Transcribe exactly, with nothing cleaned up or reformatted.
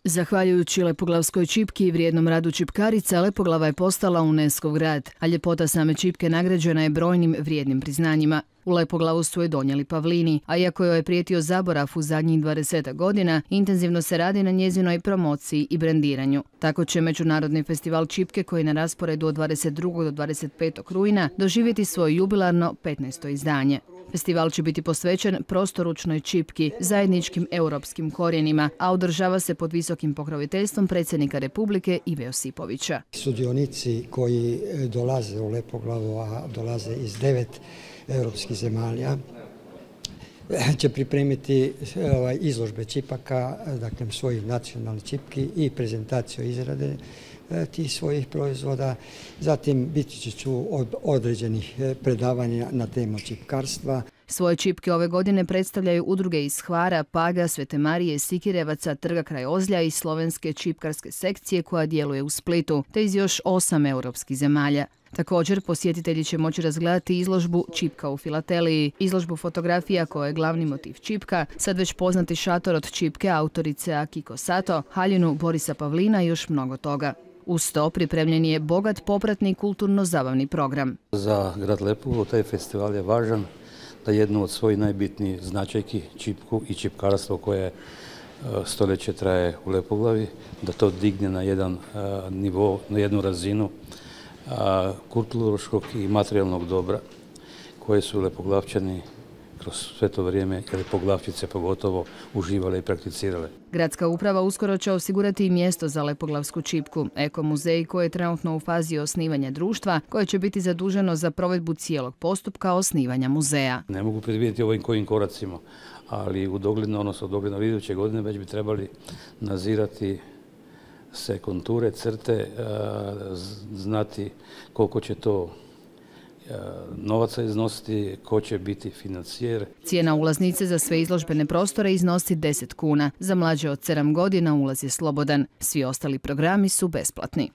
Zahvaljujući lepoglavskoj čipki i vrijednom radu čipkarica, Lepoglava je postala UNESCO grad, a ljepota same čipke nagrađena je brojnim vrijednim priznanjima. U Lepoglavu su je donijeli pavlini, a iako joj je prijetio zaborav u zadnjih dvadesetak godina, intenzivno se radi na njezinoj promociji i brendiranju. Tako će Međunarodni festival čipke, koji je na rasporedu od dvadeset drugog do dvadeset petog rujna, doživjeti svoje jubilarno petnaesto izdanje. Festival će biti posvećen prostoručnoj čipki, zajedničkim europskim korijenima, a održava se pod visokim pokroviteljstvom predsjednika Republike Ive Josipovića. Sudionici koji dolaze u Lepoglavu, a dolaze iz devet europskih zemalja, će pripremiti izložbe čipaka, dakle svojih nacionalnih čipki i prezentaciju izrade tih svojih proizvoda. Zatim biti će određenih predavanja na temu čipkarstva. Svoje čipke ove godine predstavljaju udruge iz Hvara, Paga, Svete Marije, Sikirevaca, Trga kraj Ozlja i slovenske čipkarske sekcije koja djeluje u Splitu, te iz još osam europskih zemalja. Također, posjetitelji će moći razgledati izložbu Čipka u Filateliji, izložbu fotografija koja je glavni motiv čipka, sad već poznati šator od čipke autorice Akiko Sato, haljinu Borisa Pavlina i još mnogo toga. Uz to pripremljen je bogat popratni kulturno-zabavni program. Za grad Lepoglavu taj festival je važan da jednu od svojih najbitnijih značajki, čipku i čipkarstvo koje stoljeće traje u Lepoglavi, da to digne na jedan nivo, na jednu razinu kulturološkog i materijalnog dobra koje su Lepoglavčani kroz sve to vrijeme, i Lepoglavčice pogotovo, uživale i prakticirale. Gradska uprava uskoro će osigurati i mjesto za lepoglavsku čipku, ekomuzej koji je trenutno u fazi osnivanja društva, koje će biti zaduženo za provedbu cijelog postupka osnivanja muzeja. Ne mogu predvidjeti ovim kojim koracima, ali u dogledno, odnosno u dogledno iduće godine već bi trebali nazirati se konture, crte, znati koliko će to novaca iznositi, ko će biti financijer. Cijena ulaznice za sve izložbene prostore iznosi deset kuna. Za mlađe od sedam godina ulaz je slobodan. Svi ostali programi su besplatni.